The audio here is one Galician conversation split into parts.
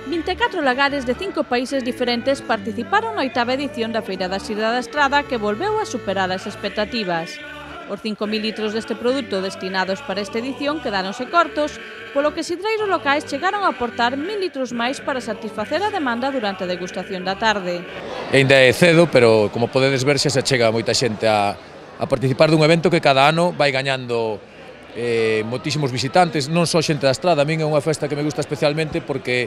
24 lagares de 5 países diferentes participaron na 8ª edición da Feira da Sidra da Estrada, que volveu a superar as expectativas. Os 5.000 litros deste produto destinados para esta edición quedáronse cortos, polo que sidreiros locais chegaron a aportar 1.000 litros máis para satisfacer a demanda durante a degustación da tarde. Ainda é cedo, pero como podedes ver xa se chega moita xente a participar dun evento que cada ano vai gañando moitísimos visitantes, non só xente da Estrada. A min é unha festa que me gusta especialmente porque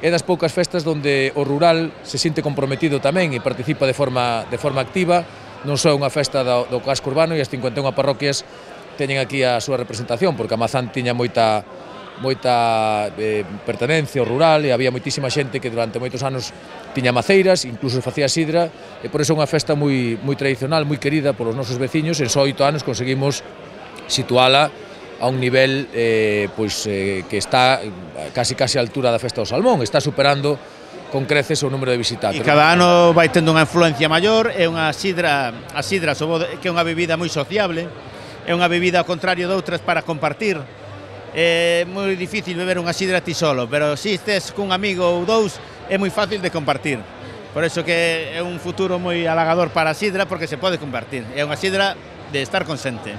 é das poucas festas onde o rural se sinte comprometido tamén e participa de forma activa. Non só é unha festa do casco urbano e as 51 parroquias teñen aquí a súa representación, porque a Mazán tiña moita pertenencia ao rural e había moitísima xente que durante moitos anos tiña maceiras, incluso facía sidra, e por iso é unha festa moi tradicional, moi querida polos nosos veciños. En só 8 anos conseguimos situala a un nivel que está casi a altura da Festa do Salmón, está superando con creces o número de visitantes. E cada ano vai tendo unha influencia maior, é unha sidra, que é unha bebida moi sociable, é unha bebida ao contrario de outras para compartir. É moi difícil beber unha sidra ti solo, pero se estes cun amigo ou dous é moi fácil de compartir. Por iso que é un futuro moi halagador para a sidra, porque se pode compartir. É unha sidra de estar con xente.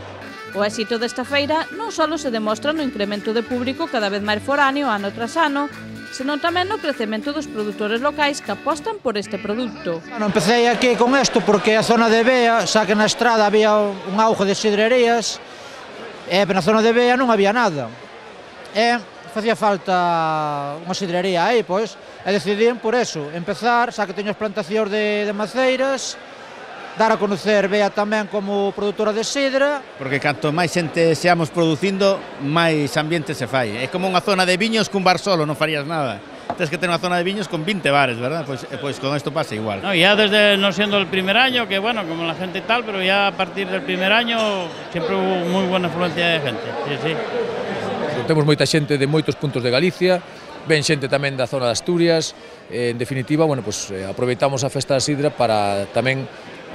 O éxito desta feira non só se demostra no incremento de público cada vez máis foráneo ano tras ano, senón tamén no crecemento dos produtores locais que apostan por este produto. Empecé aquí con isto porque a zona de Bea, xa que na Estrada había un auge de sidrerías, e na zona de Bea non había nada. E facía falta unha sidrería aí, pois, e decidín por eso, empezar, xa que teño as plantacións de maceiras, dar a conocer Bea tamén como produtora de sidra. Porque canto máis xente seamos producindo, máis ambiente se fai. É como unha zona de viños cun bar solo, non farías nada. Tens que ter unha zona de viños con 20 bares, ¿verdad? Pues con esto pasa igual. No, ya desde no siendo el primer año, que bueno, como la gente y tal, pero ya a partir del primer año siempre hubo muy buena afluencia de gente. Sí, sí. Temos moita xente de moitos puntos de Galicia, ven xente tamén da zona de Asturias. En definitiva, bueno, pues aproveitamos a Festa da Sidra para tamén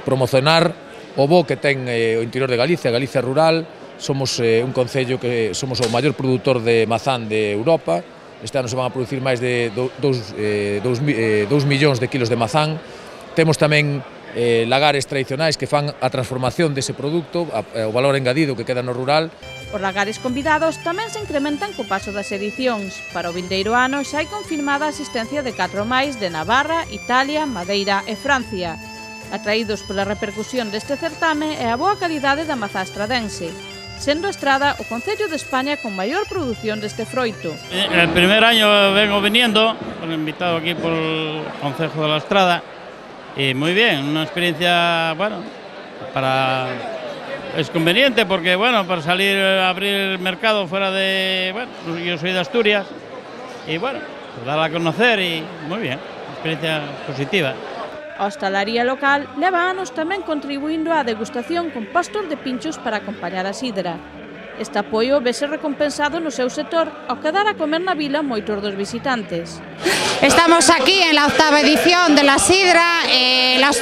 promocionar o bo que ten o interior de Galicia, Galicia rural. Somos un concello que somos o maior produtor de mazán de Europa. Este ano se van a producir máis de 2 millóns de kilos de mazán. Temos tamén lagares tradicionais que fan a transformación dese produto, o valor engadido que queda no rural. Os lagares convidados tamén se incrementan co paso das edicións. Para o vindeiro ano xa hai confirmada a asistencia de 4 máis de Navarra, Italia, Madeira e Francia, atraídos pola repercusión deste certame e a boa calidade da mazá estradense, sendo a Estrada o concello de España con maior produción deste froito. El primer año vengo viniendo, invitado aquí por el Concejo de la Estrada, y muy bien, una experiencia, bueno, es conveniente porque, bueno, para salir a abrir el mercado fuera de, bueno, yo soy de Asturias, y bueno, pues darla a conocer y muy bien, experiencia positiva. A hostalaría local leva anos tamén contribuindo á degustación con postos de pinchos para acompañar a sidra. Este apoio vese recompensado no seu sector ao quedar a comer na vila moitos dos visitantes. Estamos aquí en la 8ª edición de la sidra.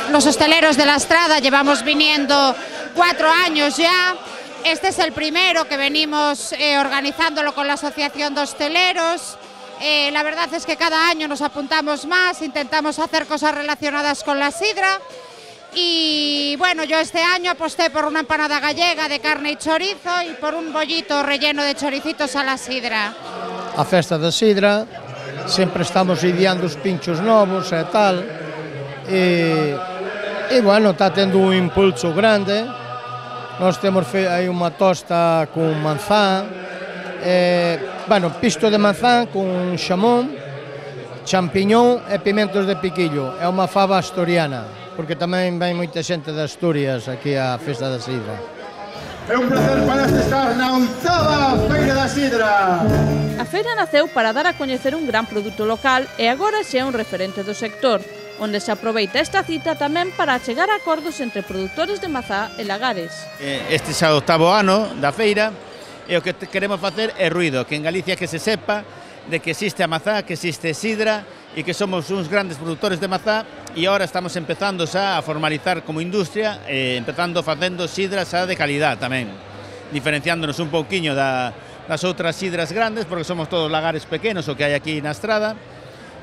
Los hosteleros de la Estrada llevamos viniendo 4 años ya. Este es el primero que venimos organizándolo con la Asociación de Hosteleros. La verdad es que cada año nos apuntamos más, intentamos hacer cosas relacionadas con la sidra. Y bueno, yo este año aposté por una empanada gallega de carne y chorizo y por un bollito relleno de choricitos a la sidra. A festa da sidra, sempre estamos ideando os pinchos novos e tal, e bueno, está tendo un impulso grande. Nós temos aí unha tosta con manzán, bueno, pisto de manzán con xamón, champiñón e pimentos de piquillo. É unha fava asturiana, porque tamén vai moita xente de Asturias aquí á Festa da Sidra. É un placer para estar na 8ª Feira da Sidra. A feira naceu para dar a coñecer un gran produto local e agora xa é un referente do sector, onde se aproveita esta cita tamén para chegar a acordos entre produtores de mazá e lagares. Este xa é o 8º ano da feira e o que queremos facer é ruido, que en Galicia que se sepa de que existe a mazá, que existe sidra e que somos uns grandes produtores de mazá e agora estamos empezando xa a formalizar como industria, empezando facendo sidra xa de calidad tamén, diferenciándonos un pouquiño das outras sidras grandes, porque somos todos lagares pequenos o que hai aquí na Estrada,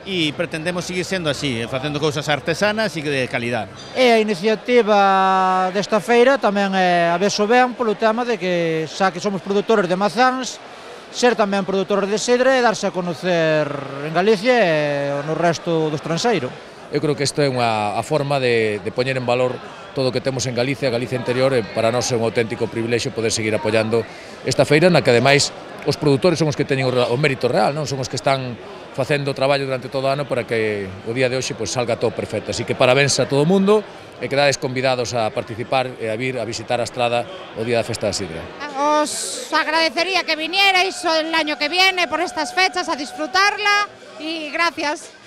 e pretendemos seguir sendo así, facendo cousas artesanas e de calidad. E a iniciativa desta feira tamén é a vexo ben polo tema de que xa que somos produtores de mazáns, ser tamén produtores de sidra e darse a conocer en Galicia e no resto do estranxeiro. Eu creo que isto é a forma de poñer en valor todo o que temos en Galicia, Galicia interior, e para nós é un auténtico privilexio poder seguir apoiando esta feira, na que ademais os produtores son os que teñen o mérito real, non son os que están facendo traballo durante todo o ano para que o día de hoxe pues, salga todo perfecto. Así que parabéns a todo o mundo e quedades convidados a participar e a vir a visitar a Estrada o día da Festa da Sidra. Os agradecería que vinierais el año que viene por estas fechas a disfrutarla y gracias.